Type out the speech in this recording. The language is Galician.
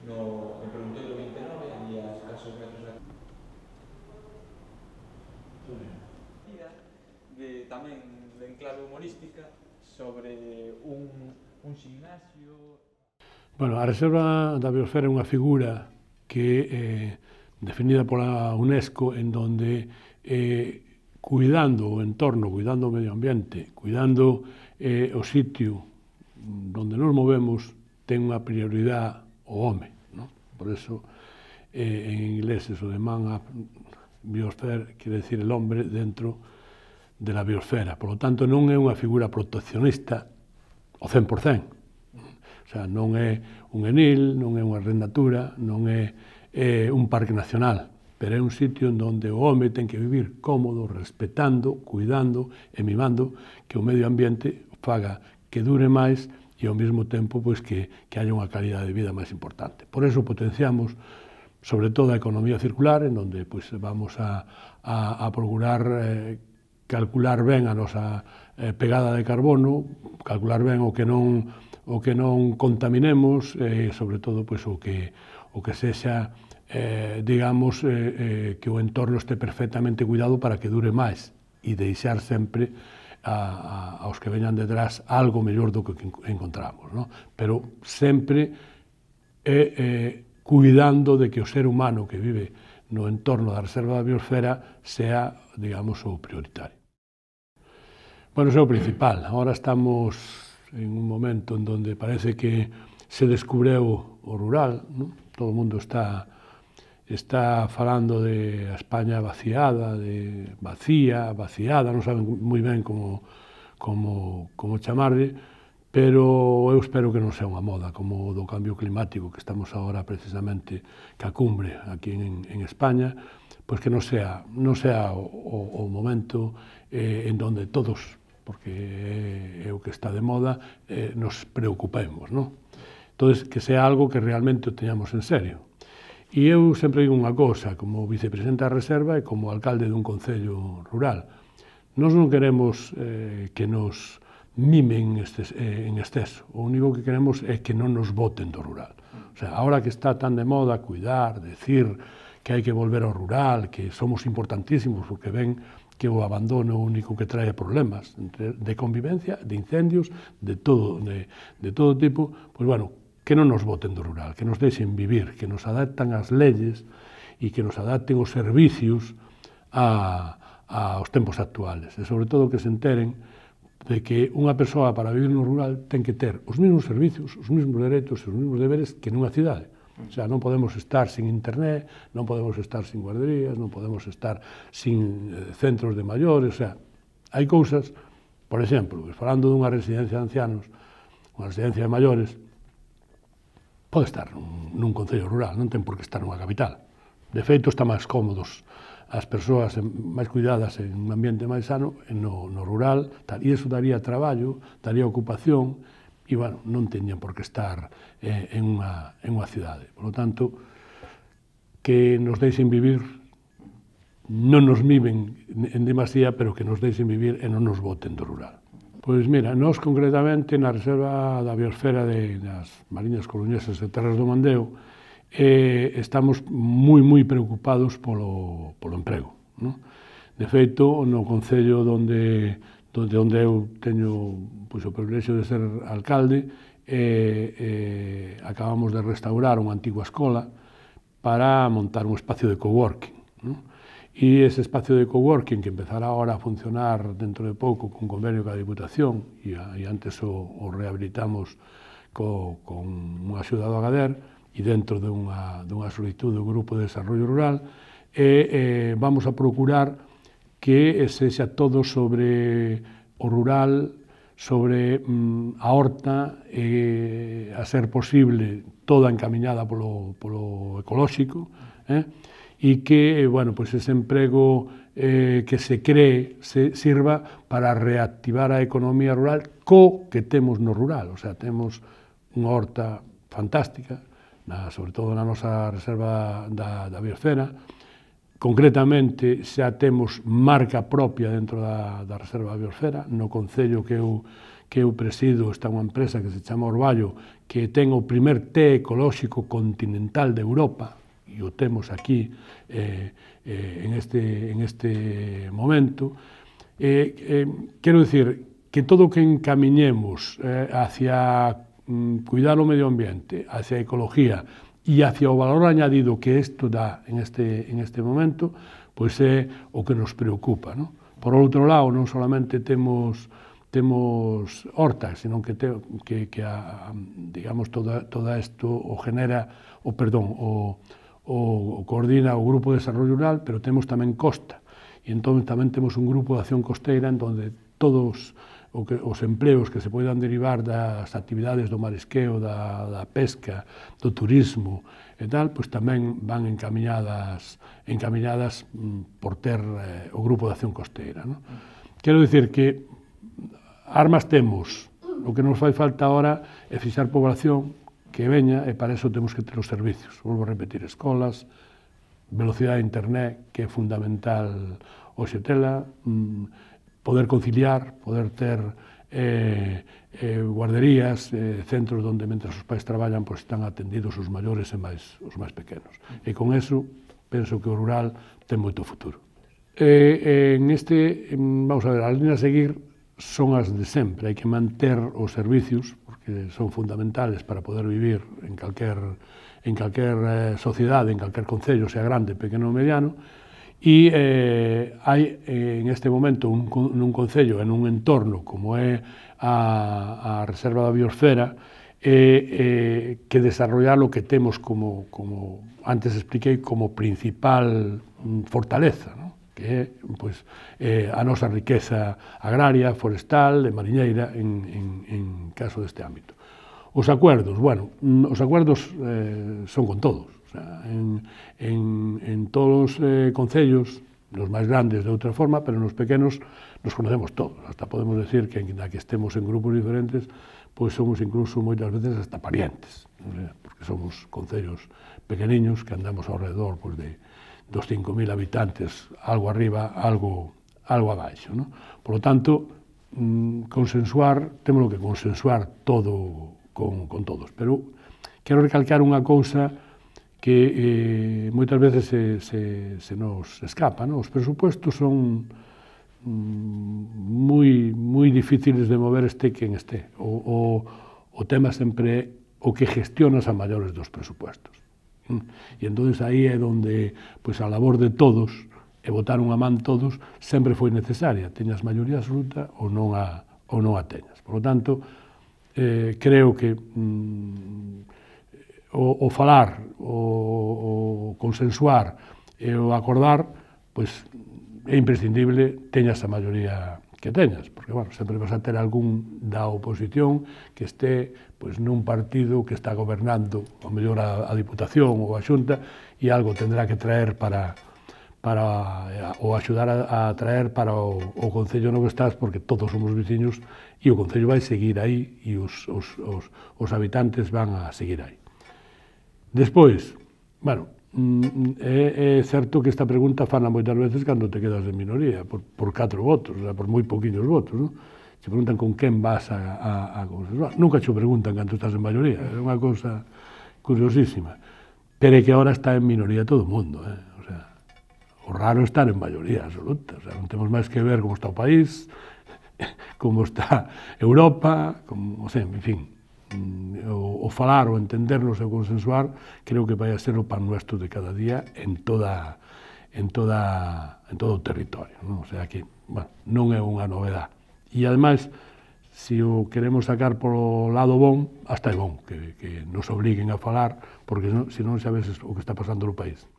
no preguntoiro 29, ali a escasos metros da tamén en clave humorística sobre un gimnasio. Bueno, a Reserva da Biosfera é unha figura que definida pola UNESCO en donde cuidando o entorno, cuidando o medio ambiente, cuidando o sitio donde nos movemos, ten unha prioridade o home, ¿no? Por eso en inglés eso de man up biosphere quere decir el hombre dentro de la biosfera. Por lo tanto, non é unha figura proteccionista ao 100%. O sea, non é un enil, non é unha arrendatura, non é un parque nacional, pero é un sitio en donde o home ten que vivir cómodo, respetando, cuidando e mimando que o medio ambiente faga que dure máis e ao mesmo tempo pois, que haya unha calidad de vida máis importante. Por eso potenciamos sobre todo a economía circular, en donde pois, vamos a procurar calcular ben a nosa pegada de carbono, calcular ben o que non contaminemos, sobre todo pois, o que sexa, digamos, que o entorno este perfectamente cuidado para que dure máis e deixar sempre aos que veñan detrás algo mellor do que encontramos, ¿no? Pero sempre cuidando de que o ser humano que vive no entorno da Reserva da Biosfera sea, digamos, o prioritario. Bueno, eso é o principal. Ahora estamos en un momento en donde parece que se descubreu o rural, ¿no? Todo o mundo está falando de a España vaciada, de vaciada, non saben moi ben como chamarlle, pero eu espero que non sea unha moda como o do cambio climático que estamos agora precisamente ca cumbre aquí en España, pois que non sea o momento en donde todos, porque é o que está de moda, nos preocupemos, non? Entón, que sea algo que realmente o teñamos en serio. E eu sempre digo unha cosa, como vicepresidente da Reserva e como alcalde dun concello rural. Nós non queremos que nos mimen en exceso. O único que queremos é que non nos boten do rural. O sea, ahora que está tan de moda cuidar, decir que hai que volver ao rural, que somos importantísimos, porque ven que o abandono único que trae problemas de convivencia, de incendios, de todo tipo, pois bueno, que non nos boten do rural, que nos deixen vivir, que nos adaptan as leyes e que nos adapten os servicios aos tempos actuales. E sobre todo que se enteren de que unha persoa para vivir no rural ten que ter os mesmos servicios, os mesmos dereitos e os mesmos deberes que nunha cidade. O sea, non podemos estar sin internet, non podemos estar sin guarderías, non podemos estar sin centros de maiores, o sea, hai cousas, por exemplo, falando dunha residencia de ancianos, unha residencia de maiores, pode estar nun concello rural, non ten por que estar nunha capital. De feito, está máis cómodos as persoas máis cuidadas en un ambiente máis sano no rural, e iso daría traballo, daría ocupación, e, bueno, non teñen por que estar en unha cidade. Por lo tanto, que nos deixen vivir, non nos mimen en demasía, pero que nos deixen vivir e non nos boten do rural. Pois mira, nós concretamente na Reserva da Biosfera das Mariñas Coruñesas de Terras do Mandeo estamos moi preocupados polo emprego, ¿no? De feito, no concello onde eu teño pois, o privilexio de ser alcalde, acabamos de restaurar unha antigua escola para montar un espacio de coworking, ¿no? E ese espacio de coworking que empezará agora a funcionar dentro de pouco con convenio ca Diputación e antes o rehabilitamos con unha axuda do Agader e dentro dunha solicitud do Grupo de Desarrollo Rural vamos a procurar que sexa todo sobre o rural, sobre a horta, a ser posible toda encamiñada polo ecolóxico, e que, bueno, pois ese emprego que se cree sirva para reactivar a economía rural que temos no rural. O sea, temos unha horta fantástica, sobre todo na nosa reserva da biosfera, Concretamente, xa temos marca propia dentro da Reserva da Biosfera. No concello que eu presido está unha empresa que se chama Orballo, que ten o primer té ecolóxico continental de Europa, e o temos aquí en este momento. Quero dicir que todo o que encamiñemos hacia cuidar o medio ambiente, hacia a ecología, e hacia o valor añadido que isto dá en este momento, pois é o que nos preocupa, non? Por outro lado, non solamente temos hortas, sino que digamos, todo isto o genera, o coordina o Grupo de Desarrollo Rural, pero temos tamén costa, e entón tamén temos un grupo de acción costeira en donde todos os empleos que se poidan derivar das actividades do marisqueo, da pesca, do turismo e tal, pois tamén van encamiñadas por ter o grupo de acción costeira. Quero dicir que armas temos, o que nos fai falta agora é fixar población que veña, e para iso temos que ter os servicios. Volvo a repetir, escolas, velocidade de internet, que é fundamental hoxe tela, poder conciliar, poder ter guarderías, centros onde, mentre os pais traballan, pois están atendidos os maiores e os máis pequenos. E con eso, penso que o rural ten moito futuro. Vamos a ver, as líneas a seguir son as de sempre. Hai que manter os servicios, porque son fundamentales para poder vivir en calquer sociedade, en calquer concello, sea grande, pequeno ou mediano. E hai en este momento nun concello, en un entorno como é a Reserva da Biosfera, que desarrollar o que temos como antes expliquei, como principal fortaleza, que é a nosa riqueza agraria, forestal e mariñeira en caso deste ámbito. Os acuerdos, bueno, os acuerdos son con todos. En todos os concellos, nos máis grandes de outra forma, pero nos pequenos nos conocemos todos. Hasta podemos decir que, na que estemos en grupos diferentes, pois somos incluso moitas veces hasta parientes, porque somos concellos pequeniños que andamos ao redor dos 5.000 habitantes, algo arriba, algo abaixo. Por lo tanto, consensuar, temos que consensuar todo con todos. Pero quero recalcar unha cousa que moitas veces se nos escapa. Os presupuestos son moi difíciles de mover este quen este. O tema sempre é o que gestionas a maiores dos presupuestos. E entón aí é onde a labor de todos, e botar unha man todos, sempre foi necesaria, teñas maioría absoluta ou non a teñas. Por lo tanto, creo que o falar, o consensuar e o acordar, pois é imprescindible teñas a maioría que teñas, porque, bueno, sempre vas a ter algún da oposición que este nun partido que está gobernando, ou mellor a Diputación ou a Xunta, e algo tendrá que traer ou axudar a traer para o concello no que estás, porque todos somos veciños e o concello vai seguir aí e os habitantes van a seguir aí. Despois, bueno, é certo que esta pregunta fana moitas veces cando te quedas en minoría, por 4 votos, por moi poquinhos votos, non? Se preguntan con quen vas a consensuar. Nunca te preguntan cando estás en maioría, é unha cousa curiosísima. Pero é que agora está en minoría todo o mundo, o sea, o raro é estar en maioría absoluta, o sea, non temos máis que ver como está o país, como está Europa, como, en fin, o falar, o entendernos e o consensuar, creo que vai a ser o pan nuestro de cada día en todo o territorio, non? O sea que, bueno, non é unha novedade. E, ademais, se o queremos sacar polo lado bon, hasta é bon que nos obliguen a falar, porque senón xa ves o que está pasando no país.